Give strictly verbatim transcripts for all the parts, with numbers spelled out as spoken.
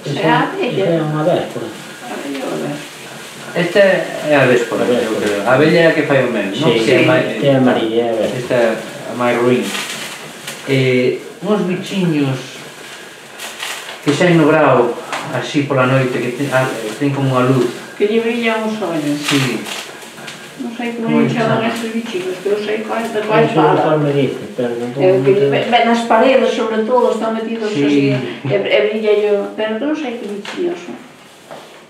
Esa é unha véspora. Esta é a véspora, eu creo. A abella é a que fai o mel, non? Si, esta é a amarilla, é a véspora. Esta é a máis ruín. Uns bichiños que saen no brao así pola noite, que ten como unha luz. Que lle brillan os ollos. Si. Non sei como lle chaman estes bichiños, que eu sei quais de quais Eso fala. me dice, pero non É o que nas paredes, sobre todo, están metidos así, e brilla yo, pero non sei que bichiños son.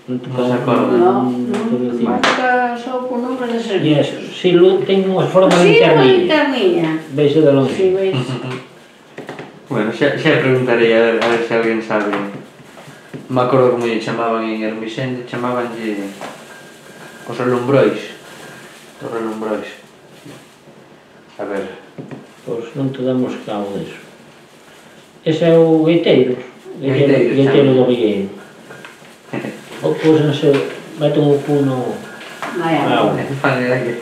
Non te Non se acorda. Non, non, marca só por nombre de servicios. Si, ten unha forma de Si, unha linternilla. linternilla. Veixe de longe. Si, veis. Bueno, xa preguntarei a ver se alguén sabe. Me acordo como lle chamaban en Hermisende, chamabanlle os relumbrois. Os relumbrois. A ver. Pois non te damos cabo deso. Ese é o gueiteiro. Gueiteiro, Gueiteiro do Vigueiro. O pósense, meten o puno na auga. Fan de aire.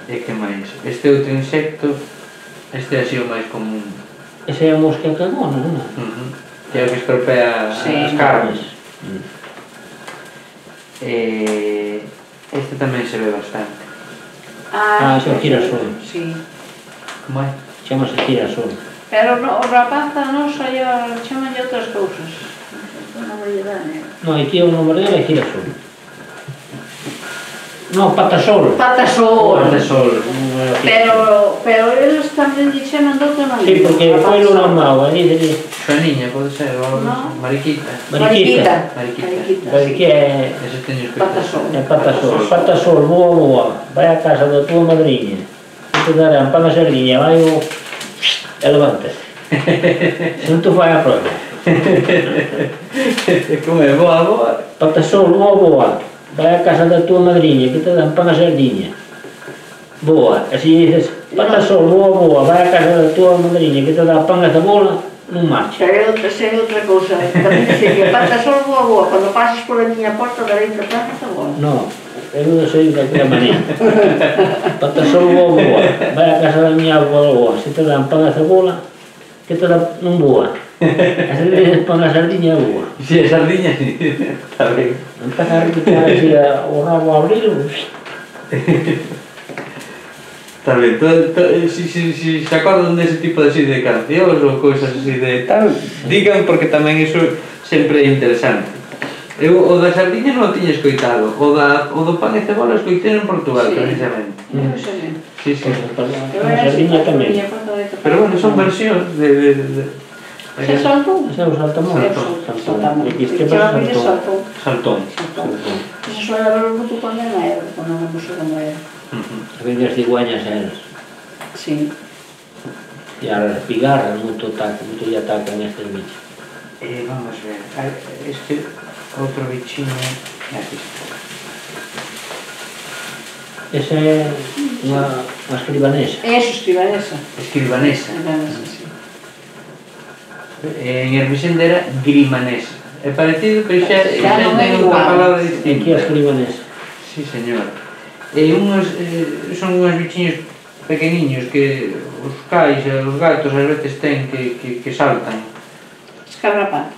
E que máis? Este outro insecto, este é así o máis común. Ese é a mosca cagona, non é? Que é o que estropea as carnes. Este tamén se ve bastante. Ah, ese é o girasol. Si. Como é? Chamase girasol. Pero o rapaza non saia, chamanlle outras cousas. Non me lle dá, né? Non, aquí o nome dele é girasol. Non, patasol. Patasol. Patasol. Pero, pero eles tamén lle chaman de outra maneira. Si, porque foi lo normal, aí diría. Xoaniña, pode ser, ou mariquita. Mariquita. Mariquita. Mariquita é... Ese teño que... Patasol. É patasol. Patasol, boa, boa. Vai a casa da tua madriña. E te darán pan a sardinha, vai o... E levántase. Se non te fai a prova. Como é? Boa, boa? Patasol, boa, boa. Vai a casa da tua madriña, que te dan pan a sardinha. Boa. Así dices, patasol, boa, boa. Vai a casa da tua madriña, que te dá pan a cebola, non marcha. Sei outra, sei outra cousa. Tamén sería patasol, boa, boa. Cando pases por a miña porta, darei-te pan a cebola. Non. Eu non sei de aquela maneira. Patasol, boa, boa. Vai a casa da miña boa, boa. Se te dan pan a cebola, que te dan non boa. Se te dices pan a sardiña, boa. Si, a sardiña, está ben. Empeza a repitar así o rabo a abrir. Está ben. Si se acordan dese tipo de cancións ou cousas así de tal, digan porque tamén iso sempre é interesante. Eu o da sardiña non o tiña escoitado, o do pan e cebola escoitei en Portugal, precisamente. Si, si. A sardiña tamén. Pero bueno, son versións de... Se saltón? Se é o saltamón. Saltón. Este é o saltón. Saltón. Se suele ver o bruto cando non era, cando non era como era. A ver as cigüeñas eras. Si. E as pigarras, moito lle atacan estes bichos. Vamos ver, este outro bichiño é aquí. Esa é unha escribanesa. Eso, escribanesa. Escribanesa. Escribanesa, si. En Hermisende era grimanesa. É parecido, pero xa non é ten outra palabra distinta. Aquí a escribanesa. Si, señor. Son unhos bichiños pequeniños que os cais e os gatos ás veces ten que saltan. As carrapatas.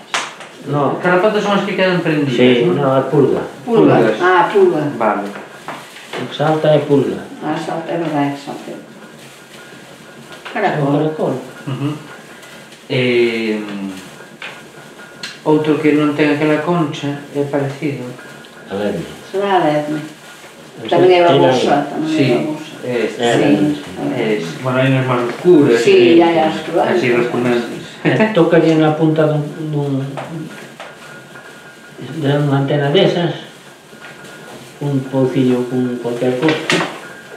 Non, as carrapatas son as que quedan prendidas. Si, non, a pulga. Pulga. Ah, pulga. Vale. O que salta é pulga. Ah, salta, é verdade, salta. Caracol. Caracol. Outro que non ten aquela concha é parecido. A lerme. Será a lerme. Tamén é babosa. Si, é bueno, hai unhas máis oscuras. Si, hai as oscuras. Así resplandentes. Tocaría na punta dun de unha antena desas un poucillo con cualquier cosa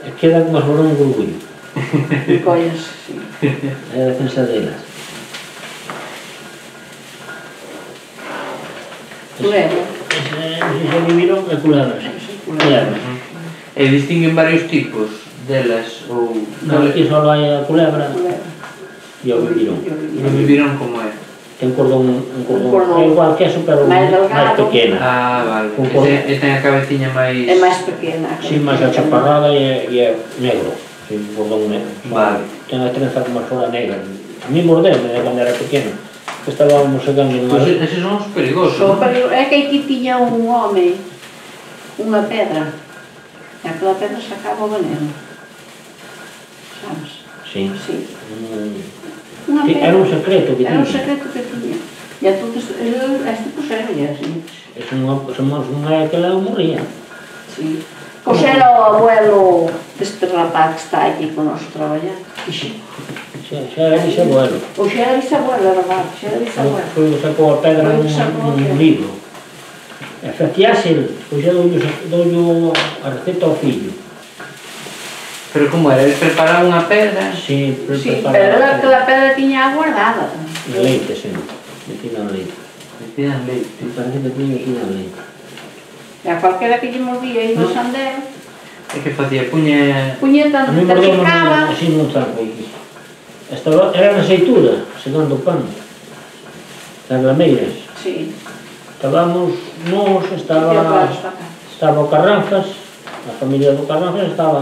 e queda como se fora un gurgullo. Collas, si. É a defensa delas. Culebra. Se se viviron é culebra, si. Culebra. E distinguen varios tipos delas ou... Non, aquí só hai a culebra e o vivirón. E o vivirón como é? Ten cordón, un cordón, é igual que eso, pero máis pequena. Ah, vale. E ten a cabeciña máis... É máis pequena. Si, máis achaparrada e é negro. Si, un cordón negro. Vale. Ten a trenza como se fora negra. A mí mordeme de cando era pequeno. que estábamos sacando unha... Pois eses son os perigosos, Só non? para- É que aquí tiña un home unha pedra e aquela pedra sacaba o veneno, sabes? Sí. Sí. Mm. Unha Sí, pedra. era un secreto que Era un tiña. secreto que tiña. E entonces, el- este puxero e así. Es unha, somos unha que la morría. Sí. Pois era o abuelo deste rapaz que está aquí con nos traballando. Ixi. Xa, xa era bisabuelo. Pois xa era bisabuelo, era verdade, xa era bisabuelo. Foi o que sacou a pedra Foi o nun, que sacou a nun pedra. libro. E faciase, pois xa doulle doulle a receta ao fillo. Pero como era? Eles preparaban unha pedra? Sí, pre- Sí, preparaba pero a era que pedra. a pedra tiña guardada. De leite, sí. Metida en leite. Metían leite. Sí, parece que tiña metida en leite. E a cualquera que lle mordía aí no No. sandero, E que facía? Puña... puñeta, A mí te mordeu picaba. así nun zanco aquí. Estaba, era na aceitura, segando pan. As lameiras. Sí, Estábamos, nós, e estaba, atrás para cá. estaba o Carranzas, a familia do Carranzas estaba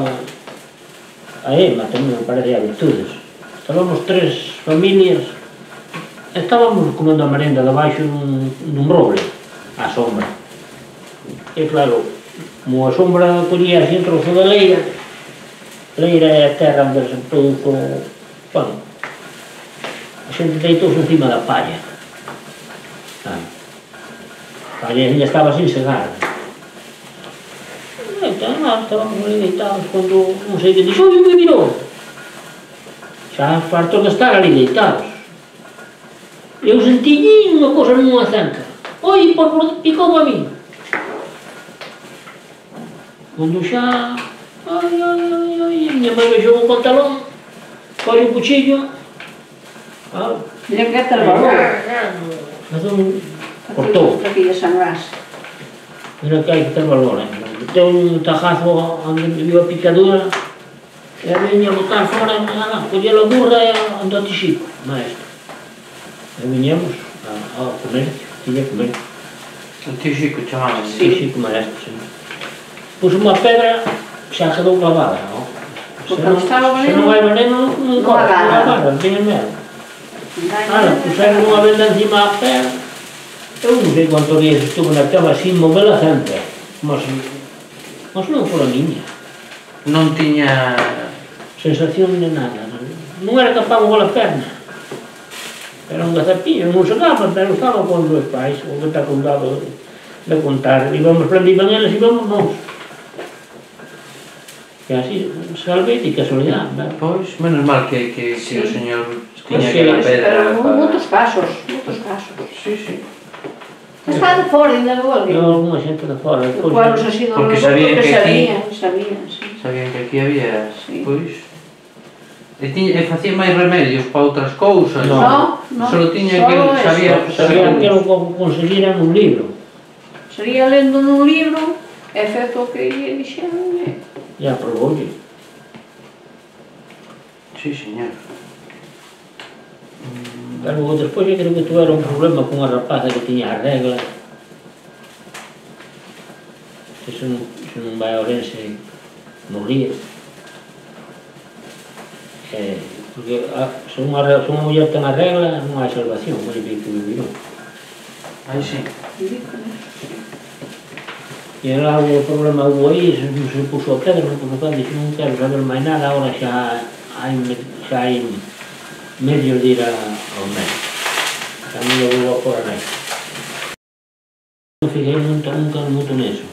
a Ema tamén, me parece, a Virtudes. Estábamos tres familias, estábamos comendo a merenda debaixo nun, nun roble, á sombra. E claro, como a sombra collía así un trozo de leira, leira é a terra onde se produzo pan. A xente deitouse encima da palla. Ah. A palla ainda estaba sin segar. E entón, nós estábamos ali deitados cando non sei que dixo, oi, me mirou. Xa fartos de estar ali deitados. Eu sentiñi unha cosa nunha zanca. Oi, por por picou a mí. Cando xa... Ai, ai, ai, ai, a miña mãe vexou o pantalón, foi o cuchillo, ah, Mira que te valor. mas un... cortou. Para que lle sangrase. Mira que hai que ter valor, eh? Deu un tajazo onde me viu a picadura, e a viña a botar fora, nada, colleu a burra e andou a tixico, maestro. E viñemos a- ao comercio, tiña comercio. O tío Xico chamaban. Sí. Tixico, maestro, sí. Puso unha pedra, xa quedou clavada, non? Porque Se non, estaba o se veneno, non hai veneno, non non corre, non agarra. agarra, tiña medo. Ala, puseron unha venda encima a pedra. Eu non sei cuántos días estuve na cama sin movela sempre. Mas, mas non fora miña. Non tiña... Sensación de nada. Non era capaz de mover a perna. Era un gazapillo, non se daba, pero estaba con os meus pais, o que está contado de, de contar. Íbamos prendiban eles, íbamos nós. E así, salve de casualidade, verdad? Pois, menos mal que, que, que Sí. o señor Pois tiña sí, aquela Pero pedra en para... moitos casos, moitos casos. Sí, sí. Está de fora, ainda luego. Eu, alguna xente de fora. despois, Pueblos así do Porque norte, sabían porque que aquí- sabían, sabían, sí. Sabían que aquí había... Sí. Pois... E, tiña, e facía máis remedios para outras cousas. No. No, no, Solo tiña solo que... eso. Sabía... Sabían que era o que conseguira nun libro. Sería lendo nun libro, e feito o que lle dixeron, e... Ya proboulle. Sí, señor. Pero despois eu creo que tuvera un problema con unha rapaza que tiña a regla. Que se non, se non vai a Ourense, morría. Eh, porque a, se, unha, re- se unha muller ten a regla, non hai salvación, moi que vivirón. Aí sí. E era algo, o problema hubo aí, se, se puso a pedra, non puso a pedra, dixo, non quero saber máis nada, agora xa hai, me- xa hai medios de ir a, ao médico. A mí eu vou a fora nai. Non fixei moito, nunca moito neso.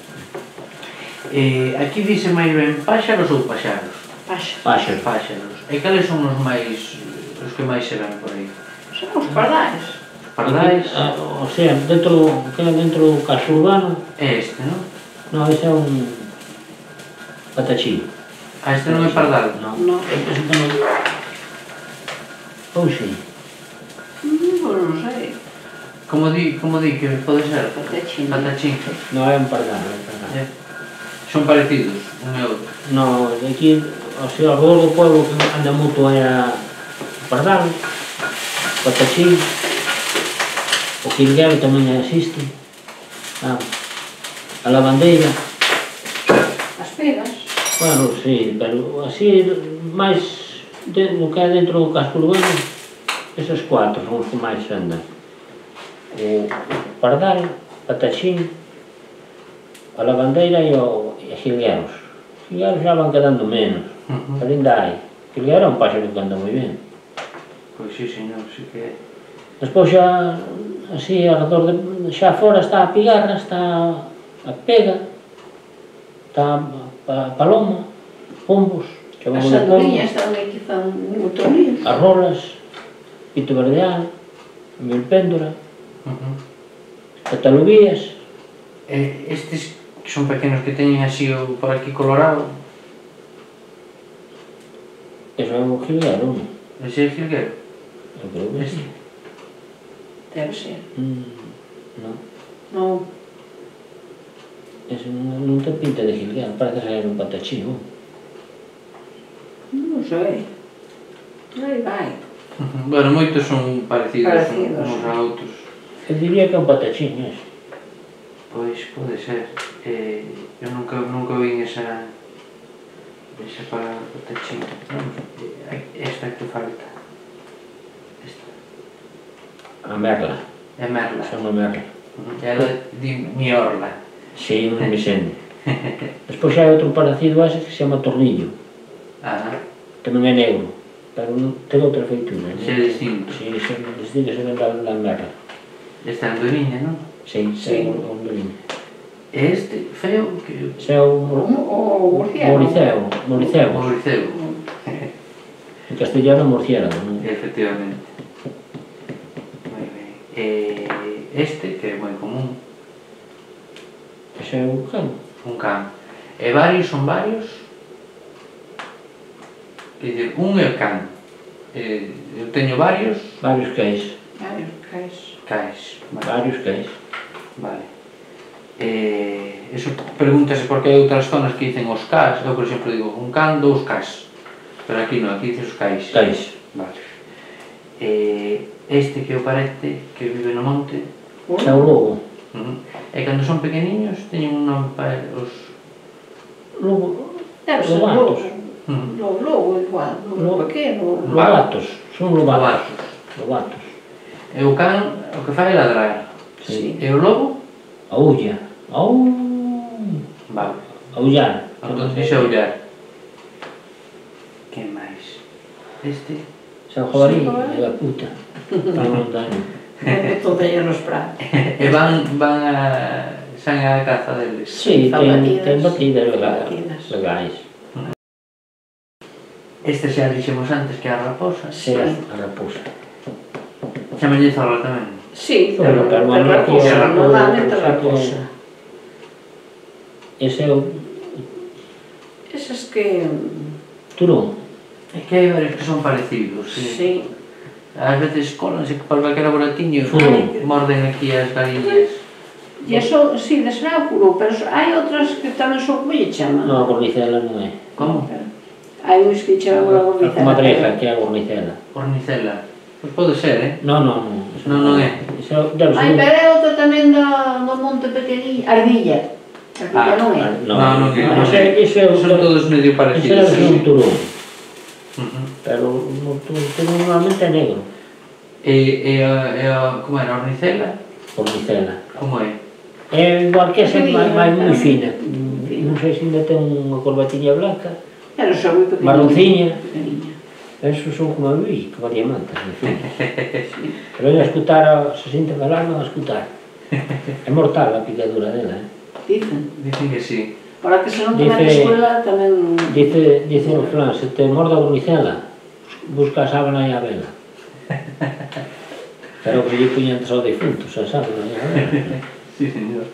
Eh, aquí dice máis ben páxaros ou paxaros? Paxa. Páxaro. Páxaros. E cales son os máis... os que máis se ven por aí? Son os pardais. Pardais? Ah, o sea, dentro, que dentro do casco urbano, É este, non? non, ese é un patachín. Ah, este non é pardal? Non, No. ese non. Ou si. Mm, Pois non sei. Como di, como di que pode ser? Patachín. Patachín. Non é un pardal, é un pardal. É. Son parecidos, un e outro. No, de aquí, o sea, ao redor do pueblo que anda moito é a pardal, patachín, o quilguero tamén existe, ah, a lavandeira, As pegas. bueno, sí, pero así, máis de, no que é dentro do casco urbano, esas cuatro son os que máis andan. o pardal, patachín, a lavandeira e o jilgueros. Os jilgueros xa van quedando menos, pero ainda hai. O jilguero é un páxaro que anda moi ben. Pois sí, señor, sí que é. Despois xa, así, alrededor de, xa fora está a pigarra, está a pega, está a paloma, pombos, que van As de polvo, andorinhas tamén que fan moito lío. as rolas, pito verdeal, milpéndora, catalubías. E estes que son pequenos que teñen así o por aquí colorado, Eso é un jilguero, non? ese é jilguero? Eu creo que sí. Debe ser. Mm, non, Non. ese non, non ten pinta de jilguero, parece ser un patachín, non? Non sei. Aí vai. Bueno, moitos son parecidos, Parecidos, uns sí. a outros. Eu diría que é un patachín, ese. Pois pode ser. Eh, eu nunca, nunca vi esa esa palabra patachín. Vamos, esta que falta. Esta. A merla, É merla. é unha merla. Ela di miorla. Sí, un mixende. Despois xa hai outro parecido a ese que se chama tornillo. Ah, Tamén é negro, pero non ten outra feitura. xe é distinto. Sí, se distingue se ven da, da merla. Esta andoriña, non? Sí, Sí. é un, un beliño. E este feo que... Se é o O, o murciélago. moriceo, moriceo. Moriceo. En castellano morciélago, non? Efectivamente. Moi ben. E este, que é moi común, Ese é un can. un can. E varios son varios. Quer dizer, un é o can. Eh, eu teño varios Varios cais, Varios cais. cais. Vale. varios cais. Vale. Eh, eso pregúntase porque hai outras zonas que dicen os cas. Eu, por exemplo, digo un can, dous cas. Pero aquí non, aquí dice os cais. Cais. Vale. Eh, este que é o parete, que vive no monte, Ese é o lobo. uh-huh. E cando son pequeniños teñen un nome para os... Lobo, Debe ser Lobatos. lobo. Uh-huh. Lobo, lobo igual. Lobo Lobo. pequeno. lobatos, son lobatos. Lobatos. E o can o que fai é ladrar. Sí. E o lobo? Aulla. Au. Vale. Aullar. Entón dixe aullar. Que máis? Este? Se é o jabalí, é da puta. Para a montaña. Onde todo aí nos pratos. E van, van a... San a caza deles. Sí, Fan ten, batidas. ten batidas legais. Batidas. legais. Este xa dixemos antes que é a raposa. Se é a raposa. Chamalle zorra tamén. Sí, Pero, pero, pero, pero pero, raposa, pero, normalmente pero, raposa. Ese é o Esas que... turón. É que hai varios que son parecidos. Sí. Sí. Ás veces colanse que para calquera boratiño Furo. morden aquí as galiñas. E eso, sí, de será o puro, pero hai outras que tamén son como lle chaman. Non, a gornicela non é. Como? Hai uns que chaman a A gornicela. comadreja, que é a gornicela. Ornicela. Pois pode ser, eh? Non, non, non. Non, non é. Iso debe Ai, ser... pero é outra tamén do, do monte pequeniño. Ardilla. Ardilla non é. Non, Non, non é. non, iso é- iso é Son todos medio Iso parecidos. debe ser un turón. Uh-huh. Pero o turón normalmente é negro. E, e, a, e a, como era, a ornicela? Gornicela. Como é? É igual que esa, Pequeniña, máis moi claro. fina. Fina. Non sei se ainda ten unha corbatiña blanca. Pero son moi pequeniña. Marronciña. Pequeniña. Esos son como, ui, como diamantes, en fin. Pero ven a escutar, a, se sinten falar, non a escutar. É mortal a picadura dela, eh? Dicen. Dicen que sí. Para que se non te Dice- na escuela tamén... Dice, dice o flan, se te morde a gornicela, busca a sábana e a vela. Pero que lle puñan só defuntos, a sábana e a vela. Sí, señor.